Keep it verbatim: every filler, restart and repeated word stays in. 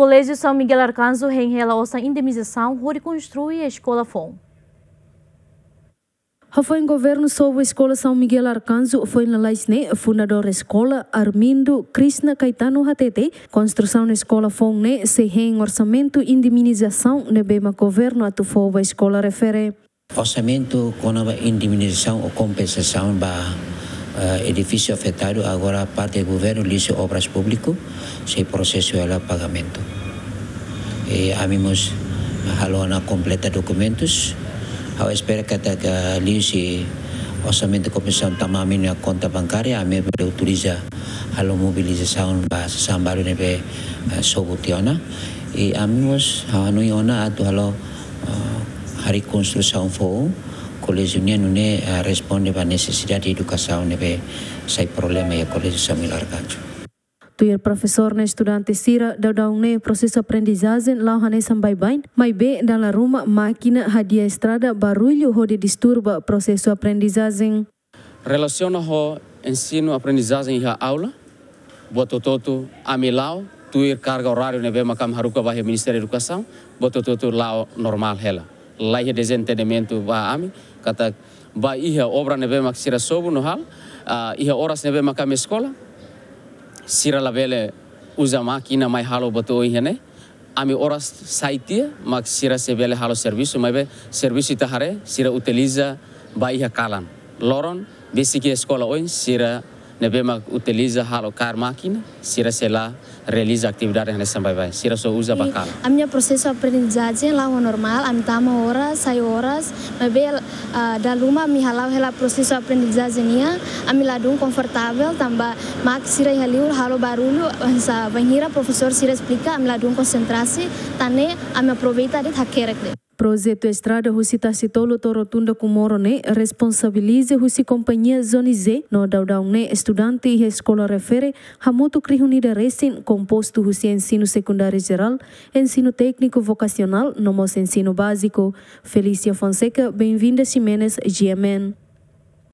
Koléjiu São Miguel Arcanjo hein hela osan indemnizasaun hodi konstrui eskola foun. Hafoin governu sobu Eskola São Miguel Arcanjo foin lalais ne'e, fundadór eskola, Armindo Krishna Caetano hatete, konstrusaun eskola foun ne'e sei hein orsamentu indemnizasaun ne'ebé mak governu atu fó ba eskola refere. Orsamentu kona-ba indemnizasaun ou kompensasaun ba, eh, edifísiu afetadu, agora parte governu liuhusi Obras Públiku sei prosesu hela pagamentu. I ami mós halo ona kompleta dokumentus. Ha'u espera katak liuhusi orsamentu kompensasaun tama ami-nia konta bankária, ami bele utiliza halo mobilizasaun ba sasán balu ne'ebé, eh, sobu tiha ona. I ami mós ha'u hanoin ona atu halo, eh, harii konstrusaun foun koléjiu nian nune'e, eh, responde ba nesesidade edukasaun ne'ebé sai problema iha Koléjiu São Miguel Arcanjo. Tuir profesór no estudante sira, daudaun ne'e prosesu aprendizajen la'o hanesan baibain, maibé dala ruma mákina hadi'a estrada barullu hodi disturba prosesu aprendizajen. Relasiona ho ensinu aprendizajen iha aula, buat hotu-hotu ami la'o tuir karga oráriu ne'ebé mak ami haruka ba iha Ministériu Edukasaun, buat hotu-hotu la'o normál hela. Laiha dezentendimentu ba ami, katak ba iha obra ne'ebé mak sira sobu no halo, ah, iha oras ne'ebé mak ami eskola, sira labele uza mákina mai halo buat oioin ne'e. Ami oras sai tiha, mak sira sei bele halo servisu, maibé servisu ita haree, sira utiliza ba iha kalan. Loron, besik iha eskola oin, sira ne'ebé mak utiliza halo kaer mákina, sira sei la realiza atividade hanesan baibain. Sira só uza ba kalan. Ami-nia prosesu aprendizajen la'o normál, ami tama oras, sai oras, maibé, ah, dala ruma ami hala'o hela prosesu aprendizajen nian, ami ladún konfortavel, tanba mákina sira iha liur halo barullu, hanesan bainhira profesór sira esplika, ami ladún konsentrasi, tan ne'e ami aproveita de'it hakerek de'it. Projetu estrada husi Tasitolu to'o Rotunda Comoro ne'e responsabiliza husi kompañia Zonize, no daudaun ne'e estudante iha eskola refere hamutuk rihun ida resin, kompostu husi ensinu sekundáriu jerál, ensinu tékniku vokasionál, no mós ensinu báziku. Felícia Fonseca, Benvinda Ximenes, G M N.